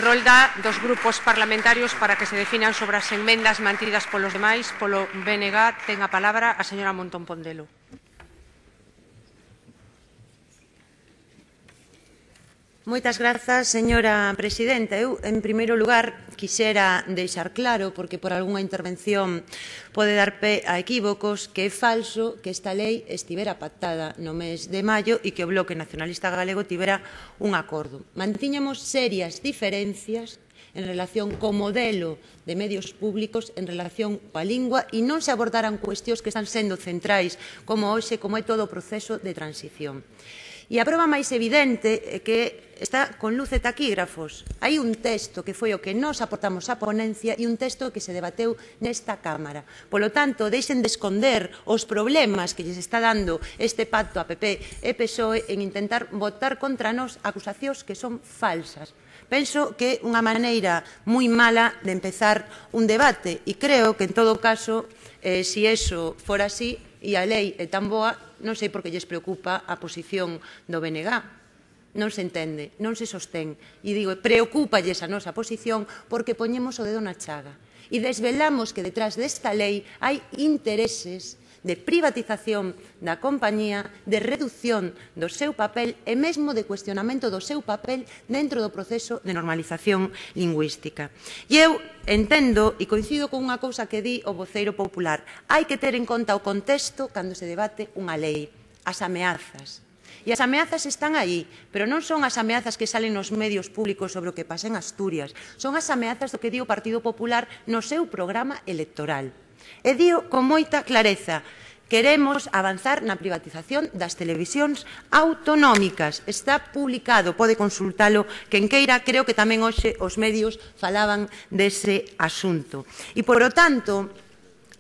Rolda dos grupos parlamentarios para que se definan sobre as enmendas mantidas polos demais. Polo BNG ten a palabra a señora Montón Pondelo. Moitas grazas, señora presidenta. Eu, en primeiro lugar, quixera deixar claro, porque por algunha intervención pode dar pé a equívocos, que é falso que esta lei estivera pactada no mes de maio e que o Bloque Nacionalista Galego tivera un acordo. Mantiñamos serias diferencias en relación co modelo de medios públicos, en relación coa lingua, e non se abordaran cuestións que están sendo centrais, como hoxe, como é todo o proceso de transición. E a proba máis evidente é que está con luz e taquígrafos. Hai un texto que foi o que nós aportamos á ponencia e un texto que se debateu nesta Cámara. Polo tanto, deixen de esconder os problemas que lles está dando este pacto a PP e PSOE en intentar votar contra nós acusacións que son falsas. Penso que é unha maneira moi mala de empezar un debate e creo que, en todo caso, se iso fora así e a lei é tan boa, non sei por que lles preocupa a posición do BNG. Non se entende, non se sostén. E digo, preocúpalles a nosa posición porque poñemos o dedo na chaga. E desvelamos que detrás desta lei hai intereses de privatización da compañía, de reducción do seu papel e mesmo de cuestionamento do seu papel dentro do proceso de normalización lingüística. E eu entendo e coincido con unha cousa que di o voceiro popular. Hai que ter en conta o contexto cando se debate unha lei, as ameazas. E as ameazas están aí, pero non son as ameazas que salen nos medios públicos sobre o que pasa en Asturias. Son as ameazas do que di o Partido Popular no seu programa electoral. E dío con moita clareza, queremos avanzar na privatización das televisións autonómicas. Está publicado, pode consultalo quen queira, creo que tamén hoxe os medios falaban dese asunto. E, por lo tanto,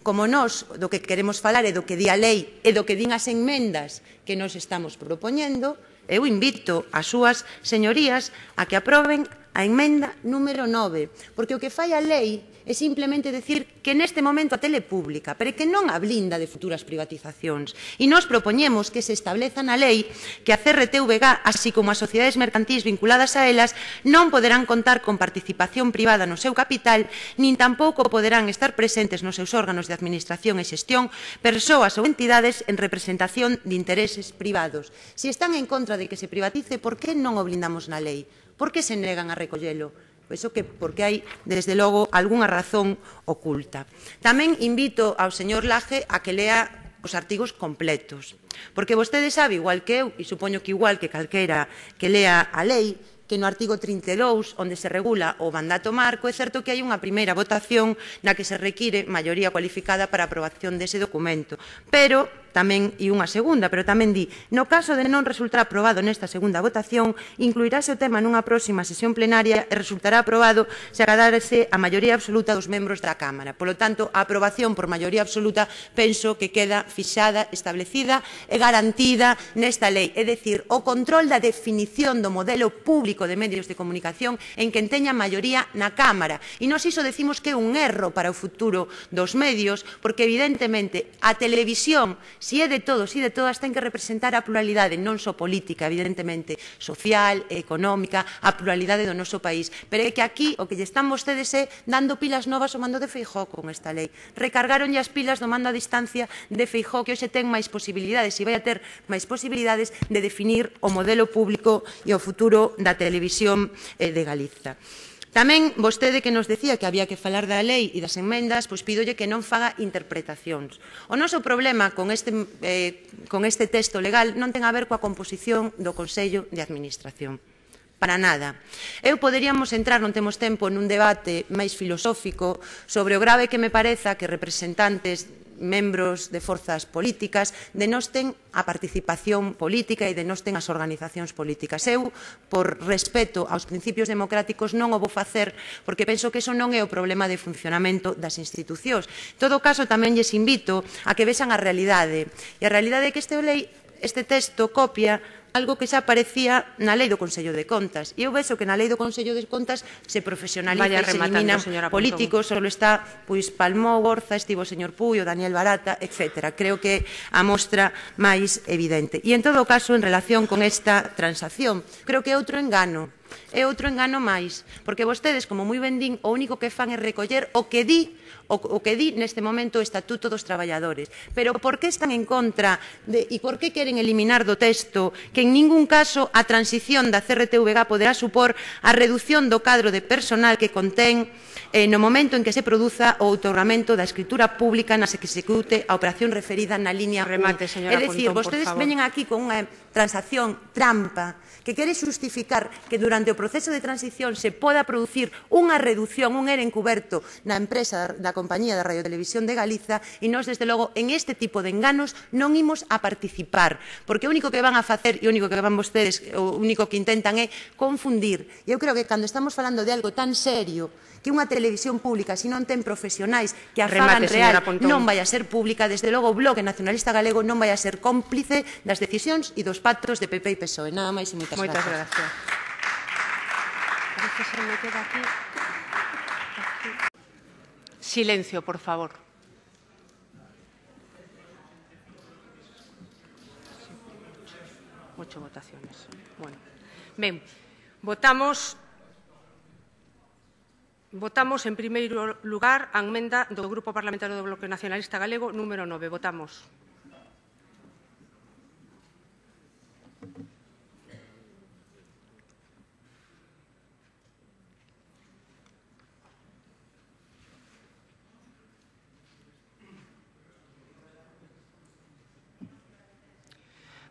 como nós do que queremos falar é do que di a lei e do que din as enmendas que nos estamos propoñendo, eu invito as súas señorías a que aproben a enmenda número 9, porque o que fai a lei é simplemente decir que neste momento a tele pública, pero que non a blinda de futuras privatizacións. E nós propoñemos que se estableza na lei que a CRTVG, así como as sociedades mercantís vinculadas a elas, non poderán contar con participación privada no seu capital, nin tampouco poderán estar presentes nos seus órganos de administración e xestión persoas ou entidades en representación de intereses privados. Se están en contra de que se privatice, por que non o blindamos na lei? Por que se negan a recollelo? Penso que porque hai, desde logo, algunha razón oculta. Tamén invito ao señor Laje a que lea os artigos completos, porque vostede sabe, igual que eu, e supoño que igual que calquera que lea a lei, que no artigo 32, onde se regula o mandato marco, é certo que hai unha primeira votación na que se require maioría cualificada para a aprobación dese documento, pero tamén, e unha segunda, pero tamén di, no caso de non resultar aprobado nesta segunda votación, incluirase o tema nunha próxima sesión plenaria e resultará aprobado se acadarse a maioría absoluta dos membros da Cámara. Polo tanto, a aprobación por maioría absoluta penso que queda fixada, establecida e garantida nesta lei. É dicir, o control da definición do modelo público de medios de comunicación en quen teña maioría na Cámara. E nós iso decimos que é un erro para o futuro dos medios, porque evidentemente a televisión, se é de todos e de todas, ten que representar a pluralidade, non só política, evidentemente, social, económica, a pluralidade do noso país. Pero é que aquí o que lle están vostedes é dando pilas novas ao mando de Feijóo con esta lei. Recargaronlle as pilas do mando a distancia de Feijóo, que hoxe ten máis posibilidades e vai a ter máis posibilidades de definir o modelo público e o futuro da televisión de Galiza. Tamén vostede que nos decía que había que falar da lei e das enmendas, pois pídolle que non faga interpretacións. O noso problema con este texto legal non ten a ver coa composición do Consello de Administración. Para nada. Eu poderíamos entrar, non temos tempo, nun debate máis filosófico sobre o grave que me pareza que representantes membros de forzas políticas denosten a participación política e denosten as organizacións políticas. Eu, por respeto aos principios democráticos, non o vou facer porque penso que eso non é o problema de funcionamento das institucións. En todo caso, tamén lles invito a que vexan a realidade. E a realidade é que este texto copia algo que xa aparecía na Lei do Consello de Contas. E eu vexo que na Lei do Consello de Contas se profesionaliza e se eliminan políticos, só está Palmó, Gorza, estivo o señor Puy, o Daniel Barata, etc. Creo que a mostra máis evidente. E, en todo caso, en relación con esta transacción, creo que é outro engano. é outro engano máis, porque vostedes, como moi ben din, o único que fan é recoller o que di neste momento o Estatuto dos Traballadores. Pero por que están en contra e por que queren eliminar do texto que en ningún caso a transición da CRTVG poderá supor a reducción do cadro de personal que contén no momento en que se produza o outorgamento da escritura pública na que se execute a operación referida na línea 1. É dicir, vostedes veñen aquí con unha transacción trampa que quere xustificar que durante o proceso de transición se poda producir unha reducción, un ERE encuberto na empresa da Compañía da Radiotelevisión de Galiza e nós, desde logo, en este tipo de enganos non imos a participar, porque o único que van a facer e o único que van vostedes, o único que intentan é confundir. E eu creo que cando estamos falando de algo tan serio que unha televisión pública, se non ten profesionais que a fagan real, non vai a ser pública, desde logo o Bloque Nacionalista Galego non vai a ser cómplice das decisións e dos pactos de PP e PSOE. Nada máis e moitas Moitas grazas. gracias. Silencio, por favor. Ocho votaciones. Bueno. Ben, votamos en primeiro lugar a emenda do Grupo Parlamentario do Bloque Nacionalista Galego número 9. Votamos.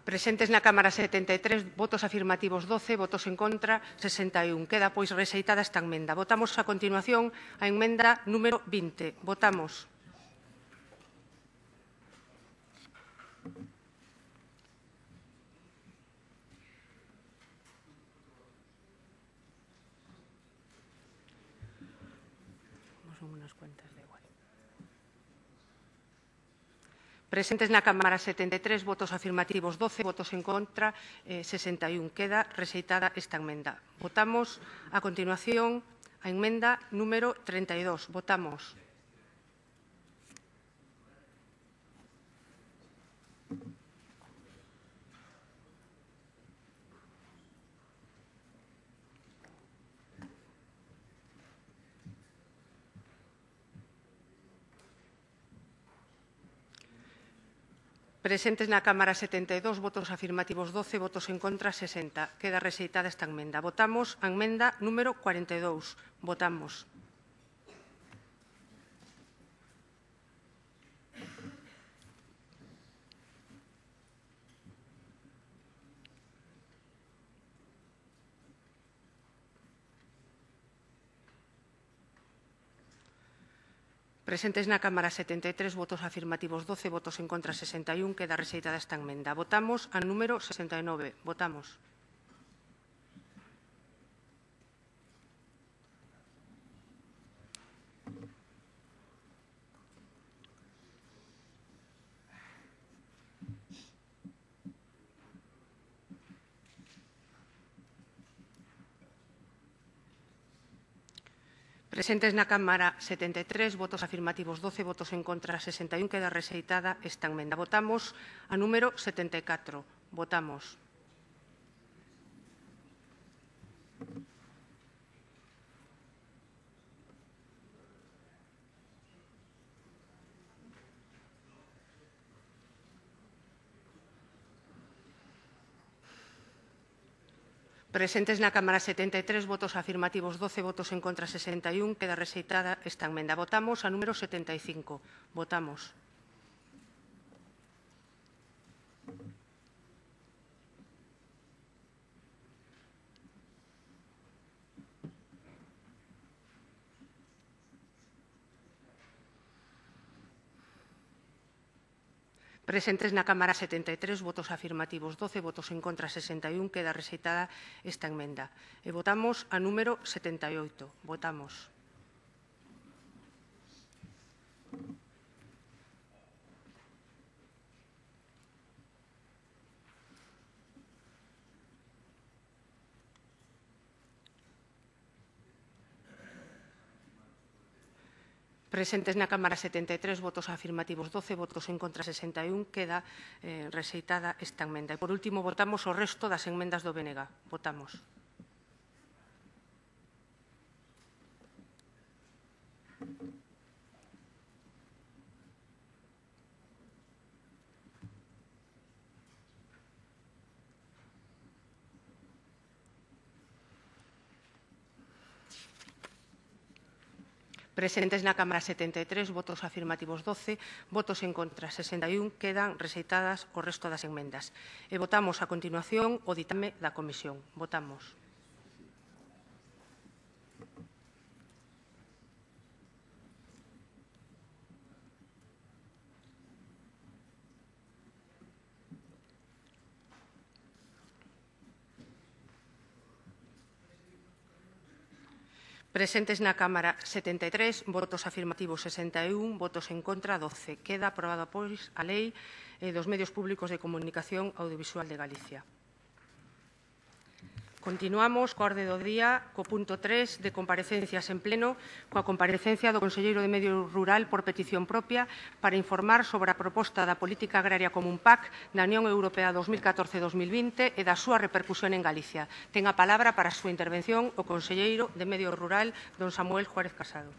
Presentes na Cámara 73, votos afirmativos 12, votos en contra 61. Queda, pois, rexeitada esta emenda. Votamos a continuación a emenda número 20. Votamos. Son unas cuentas de igual. Presentes na Cámara 73, votos afirmativos 12, votos en contra 61. Queda rexeitada esta emenda. Votamos a continuación a emenda número 32. Votamos. Presentes na Cámara 72, votos afirmativos 12, votos en contra 60. Queda rexeitada esta emenda. Votamos a emenda número 42. Votamos. Presentes na Cámara 73, votos afirmativos 12, votos en contra 61. Queda rexeitada esta emenda. Votamos a número 69. Votamos. Presentes na Cámara 73, votos afirmativos 12, votos en contra 61. Queda rexeitada esta emenda. Votamos a número 74. Votamos. Presentes na Cámara 73, votos afirmativos 12, votos en contra 61. Queda rexeitada esta emenda. Votamos a número 75. Votamos. Presentes na Cámara 73, votos afirmativos 12, votos en contra 61. Queda rexeitada esta emenda. E votamos a número 78. Votamos. Presentes na Cámara 73, votos afirmativos 12, votos en contra 61. Queda rexeitada esta emenda. E, por último, votamos o resto das emendas do BNG. Votamos. Presentes na Cámara 73, votos afirmativos 12, votos en contra 61, quedan rexeitadas o resto das enmendas. E votamos a continuación o ditame da Comisión. Votamos. Presentes na Cámara 73, votos afirmativos 61, votos en contra 12. Queda aprobada, pois, a Lei dos Medios Públicos de Comunicación Audiovisual de Galicia. Continuamos coa orde do día, co punto 3 de comparecencias en pleno, coa comparecencia do Conselleiro de Medio Rural por petición propia para informar sobre a proposta da Política Agraria Común PAC da Unión Europea 2014-2020 e da súa repercusión en Galicia. Ten a palabra para a súa intervención o Conselleiro de Medio Rural, don Samuel Juárez Casado.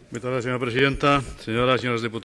Muchas gracias, señora presidenta. Señoras y señores diputados.